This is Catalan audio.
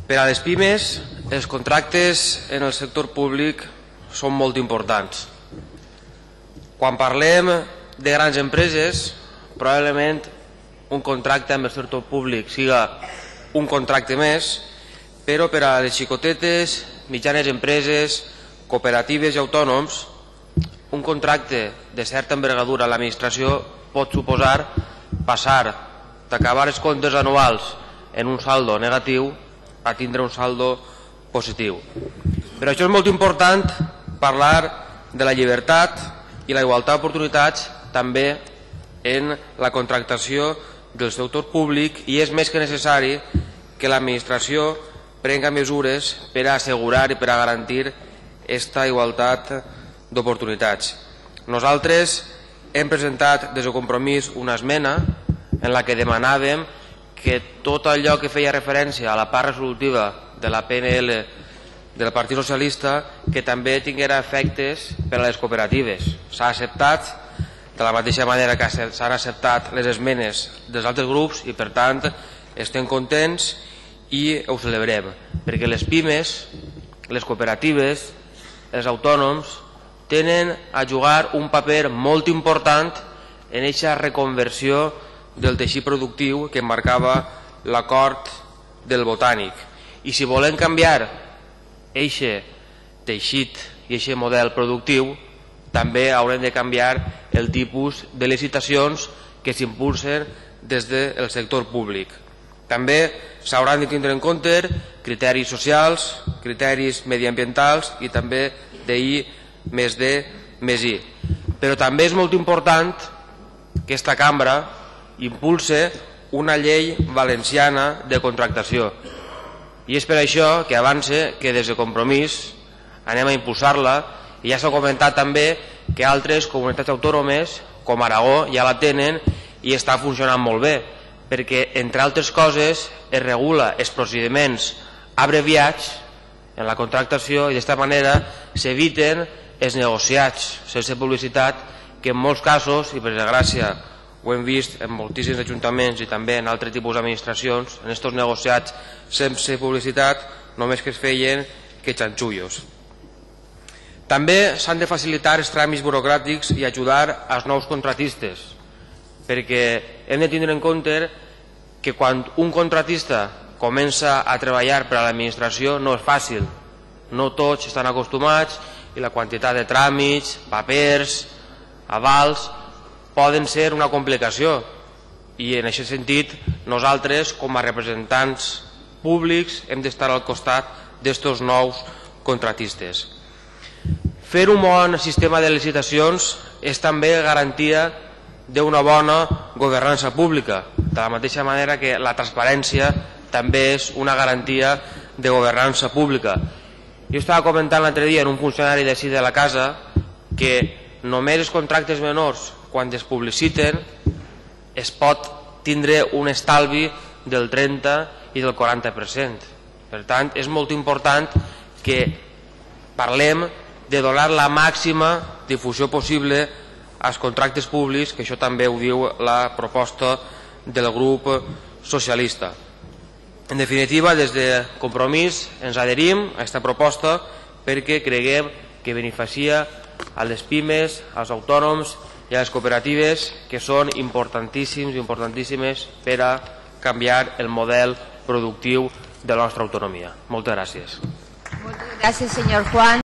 Per a les pimes, els contractes en el sector públic són molt importants. Quan parlem de grans empreses, probablement un contracte amb el sector públic siga un contracte més, però per a les xicotetes, mitjanes empreses, cooperatives i autònoms, un contracte de certa envergadura a l'administració pot suposar passar d'acabar els comptes anuals en un saldo negatiu a tindre un saldo positiu. Per això és molt important parlar de la llibertat i la igualtat d'oportunitats també en la contractació del sector públic, i és més que necessari que l'administració prenga mesures per a assegurar i per a garantir aquesta igualtat d'oportunitats. Nosaltres hem presentat des de Compromís una esmena en la que demanàvem que tot allò que feia referència a la part resolutiva de la PNL del Partit Socialista que també tinguera efectes per a les cooperatives. S'ha acceptat de la mateixa manera que s'han acceptat les esmenes dels altres grups i per tant estem contents i ho celebrem, perquè les pimes, les cooperatives, els autònoms tenen a jugar un paper molt important en aquesta reconversió del teixit productiu que marcava l'acord del Botànic. I si volem canviar aquest teixit i aquest model productiu, també haurem de canviar el tipus de licitacions que s'impulsen des del sector públic. També s'hauran de tindre en compte criteris socials, criteris mediambientals i també d'I+D+I. Però també és molt important que aquesta cambra impulse una llei valenciana de contractació. I és per això que avance que des de Compromís anem a impulsar-la, i ja s'ha comentat també que altres comunitats autònomes com Aragó ja la tenen i està funcionant molt bé, perquè entre altres coses es regula els procediments abreviats en la contractació i d'esta manera s'eviten els negociats sense publicitat que en molts casos, i per desgràcia ho hem vist en moltíssims ajuntaments i també en altres tipus d'administracions, en aquests negociats sense publicitat només que es feien que xanxullos. També s'han de facilitar els tràmits burocràtics i ajudar als nous contratistes, perquè hem de tindre en compte que quan un contratista comença a treballar per a l'administració no és fàcil, no tots estan acostumats i la quantitat de tràmits, papers, avals poden ser una complicació, i en aquest sentit nosaltres com a representants públics hem d'estar al costat d'estos nous contratistes. Fer un bon sistema de licitacions és també garantia d'una bona governança pública, de la mateixa manera que la transparència també és una garantia de governança pública. Jo estava comentant l'altre dia en un funcionari d'ací de la casa que només els contractes menors, quan es publiciten, es pot tindre un estalvi del 30 i del 40%. Per tant, és molt important que parlem de donar la màxima difusió possible als contractes públics, que això també ho diu la proposta del grup socialista. En definitiva, des de Compromís ens adherim a aquesta proposta perquè creguem que beneficia a les pimes, als autònoms i a les cooperatives, que són importantíssims i importantíssimes per a canviar el model productiu de la nostra autonomia. Moltes gràcies. Moltes gràcies, senyor Juan.